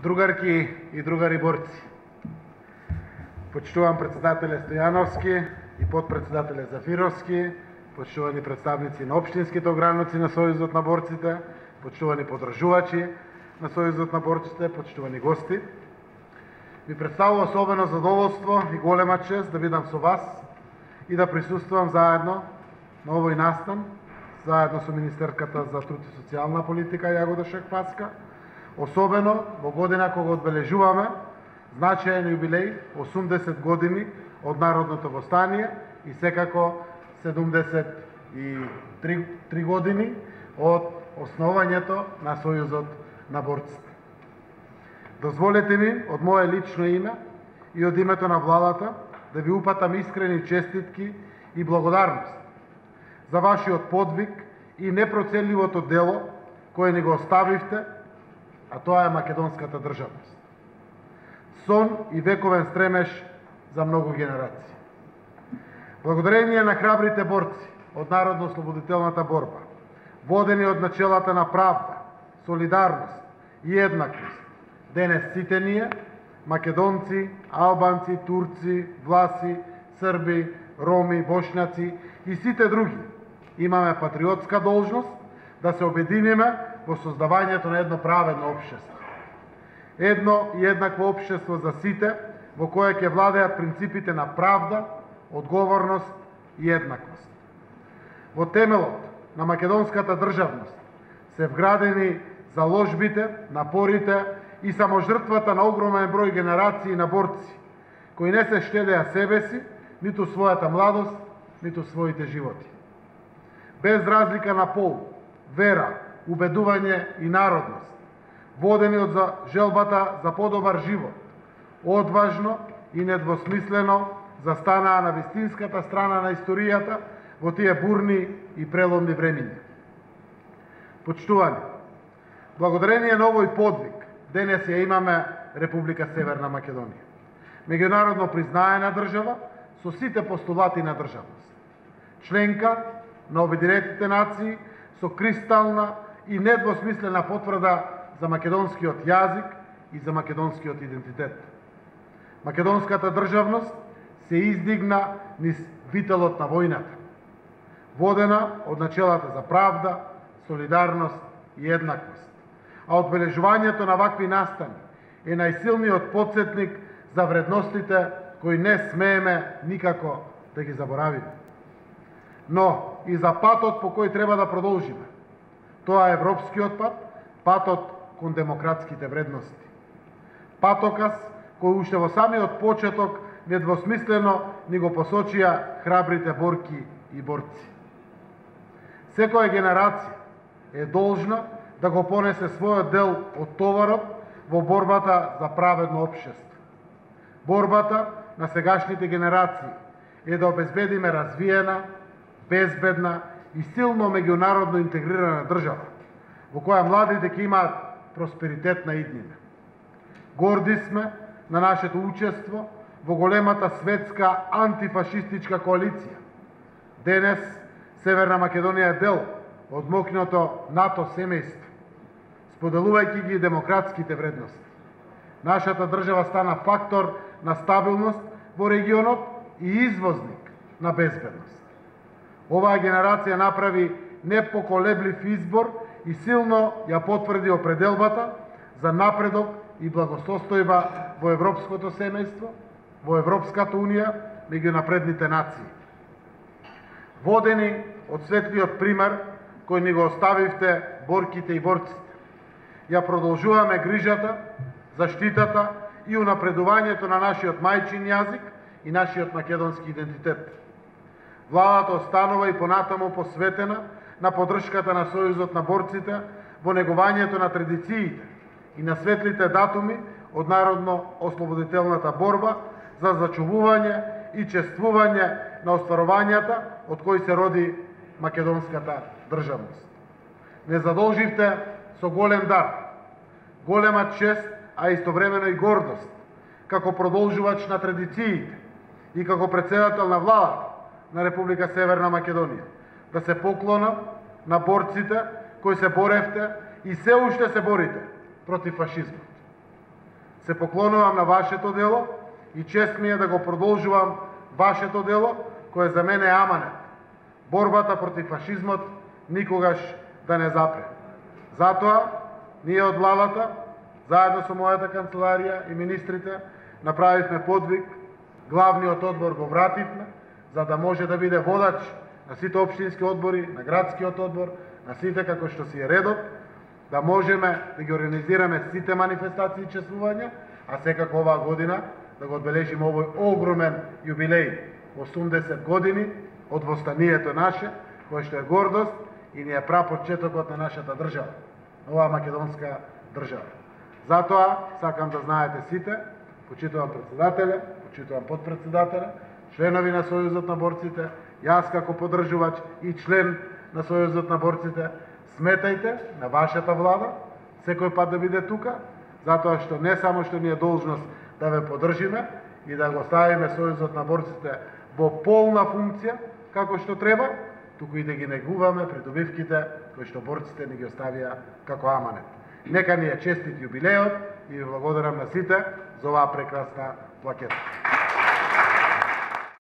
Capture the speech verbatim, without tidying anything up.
Другарки и другари борци, почитувам председателе Стојановски и подпредседателе Зафировски, почитувани представници на општинските ограници на Сојузот на борците, почитувани подржувачи на Сојузот на борците, почитувани гости. Ми представува особено задоволство и голема чест да бидам со вас и да присуствувам заедно на овој настан, заедно со министерката за труд и социјална политика Јагода Шекпаска, особено во година кога одбележуваме значаен јубилеј осумдесет години од Народното востание и секако седумдесет и три години од основањето на Сојузот на борците. Дозволете ми од мое лично име и од името на владата да ви упатам искрени честитки и благодарност за вашиот подвиг и непроценливото дело кое ни го оставивте, а тоа е македонската државност. Сон и вековен стремеж за многу генерации. Благодарение на храбрите борци од народно-ослободителната борба, водени од начелата на правда, солидарност и еднаквост, денес сите ние, македонци, албанци, турци, власи, срби, роми, бошњаци и сите други, имаме патриотска должност да се обединиме во создавањето на едно праведно општество. Едно и еднакво општество за сите, во кое ќе владеат принципите на правда, одговорност и еднаквост. Во темелот на македонската државност се вградени заложбите, напорите и саможртвата на огромен број генерации на борци, кои не се штедеа себе си, ниту својата младост, ниту своите животи. Без разлика на пол, вера, убедување и народност, водени од желбата за подобар живот, одважно и недвосмислено застанаа на вистинската страна на историјата во тие бурни и преломни времиња. Почитувани, благодарение на овој подвиг, денес ја имаме Република Северна Македонија. Меѓународно признаена држава со сите постулати на државност. Членка на Обединетите нации со кристална и недвосмислена потврда за македонскиот јазик и за македонскиот идентитет. Македонската државност се издигна низ вителот на војната, водена од начелата за правда, солидарност и еднаквост. А одбележувањето на вакви настани е најсилниот потсетник за вредностите кои не смееме никако да ги заборавиме. Но и за патот по кој треба да продолжиме. Тоа е европскиот пат, патот кон демократските вредности. Патокас кој уште во самиот почеток недвосмислено ни го посочија храбрите борки и борци. Секоја генерација е должна да го понесе својот дел од товарот во борбата за праведно општество. Борбата на сегашните генерации е да обезбедиме развиена, безбедна и силно меѓународно интегрирана држава, во која младите ќе имаат просперитетна иднина. Горди сме на нашето учество во големата светска антифашистичка коалиција. Денес Северна Македонија е дел од мокното НАТО семејство, споделувајќи ги демократските вредности. Нашата држава стана фактор на стабилност во регионот и извозник на безбедност. Оваа генерација направи непоколеблив избор и силно ја потврди определбата за напредок и благосостојба во европското семејство, во Европската унија, меѓу напредните нации. Водени од светлиот пример кој ни го оставивте борките и борците, ја продолжуваме грижата, заштитата и унапредувањето на нашиот мајчин јазик и нашиот македонски идентитет. Владата останува и понатаму посветена на поддршката на Сојузот на борците во негувањето на традициите и на светлите датуми од народно-ослободителната борба за зачувување и чествување на остварувањата од кои се роди македонската државност. Не задолживте со голем дар, голема чест, а истовремено и гордост, како продолжувач на традициите и како председател на владата на Република Северна Македонија, да се поклона на борците кои се боревте и се уште се борите против фашизмот. Се поклонувам на вашето дело и чест ми е да го продолжувам вашето дело, кое за мене е аманет. Борбата против фашизмот никогаш да не запре. Затоа, ние од владата, заедно со мојата канцеларија и министрите, направивме подвиг, главниот одбор го вративме, за да може да биде водач на сите општински одбори, на градскиот одбор, на сите како што си е редот, да можеме да ги организираме сите манифестации и чествувања, а секако оваа година да го одбележиме овој огромен јубилеј, осумдесет години од востанието наше, кој што е гордост и ни е прапочетокот на нашата држава, оваа македонска држава. Затоа сакам да знаете сите, почитувам председателя, почитувам подпредседателя, членови на Сојузот на борците, јас како поддржувач и член на Сојузот на борците, сметајте на вашата влада, секој пат да биде тука, затоа што не само што ни е должност да ве поддржиме и да го ставиме Сојузот на борците во полна функција, како што треба, туку и да ги негуваме придобивките кои што борците ни ги оставија како аманет. Нека ни е честит јубилеот и ви благодарам на сите за оваа прекрасна плакета.